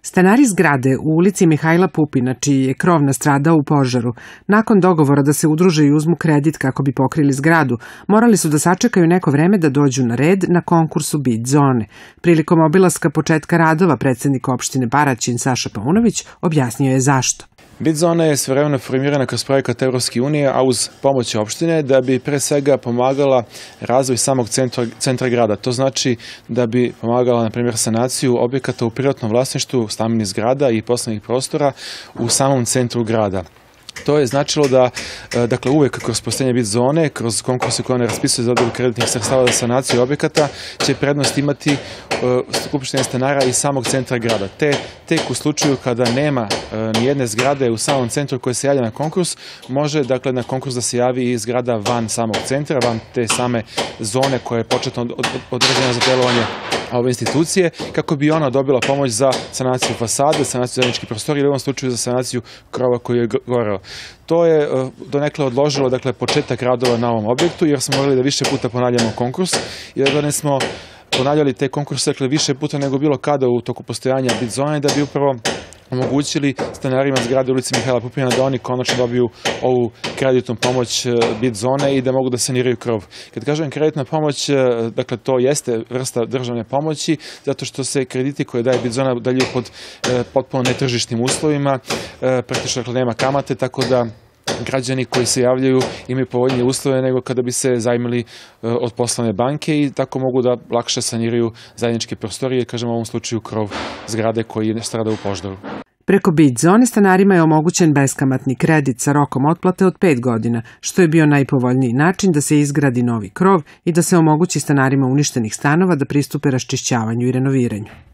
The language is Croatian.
Stanari zgrade u ulici Mihajla Pupina, čiji je krov nastradao u požaru, nakon dogovora da se udruže i uzmu kredit kako bi pokrili zgradu, morali su da sačekaju neko vreme da dođu na red na konkursu BID zone. Prilikom obilaska početka radova predsednik opštine Paraćin Saša Paunović objasnio je zašto. BID zona je svojevremeno formirana kroz projekat Evropske unije, a uz pomoć opštine da bi pre svega pomagala razvoj samog centra grada. To znači da bi pomagala, na primjer, sanaciju objekata u privatnom vlasništvu, stambenih zgrada i poslovnih prostora u samom centru grada. To je značilo da, dakle, uvek kroz postojanje BID zone, kroz konkurse koje one raspisuju za dodelu kreditnih sredstava za sanaciju objekata, će prednost imati skupštine stanara iz samog centra grada. Tek u slučaju kada nema nijedne zgrade u samom centru koje se javlja na konkurs, može, dakle, na konkurs da se javi i zgrada van samog centra, van te same zone koja je početno određena za delovanje ove institucije, kako bi ona dobila pomoć za sanaciju fasade, sanaciju zajedničkih prostorija ili u ovom slučaju za sanaciju krova koji je goreo. To je donekle odložilo, dakle, početak radova na ovom objektu, jer smo morali da više puta ponavljamo konkurs, jer da smo ponavljali te konkurse, dakle, više puta nego bilo kada u toku postojanja BID zone, da bi upravo omogućili stanarima zgrade ulici Mihajla Pupina da oni konačno dobiju ovu kreditnu pomoć BID zone i da mogu da saniraju krov. Kad kažem kreditna pomoć, dakle, to jeste vrsta državne pomoći, zato što se krediti koje daje BID zona dalju pod potpuno netržišnim uslovima, praktično, dakle, nema kamate, tako da građani koji se javljaju imaju povoljnije uslove nego kada bi se zajmili od poslovne banke i tako mogu da lakše saniraju zajedničke prostorije, kažem u ovom slučaju krov zgrade koji je strada u požaru. Preko BID zone stanarima je omogućen beskamatni kredit sa rokom otplate od 5 godina, što je bio najpovoljniji način da se izgradi novi krov i da se omogući stanarima uništenih stanova da pristupe raščišćavanju i renoviranju.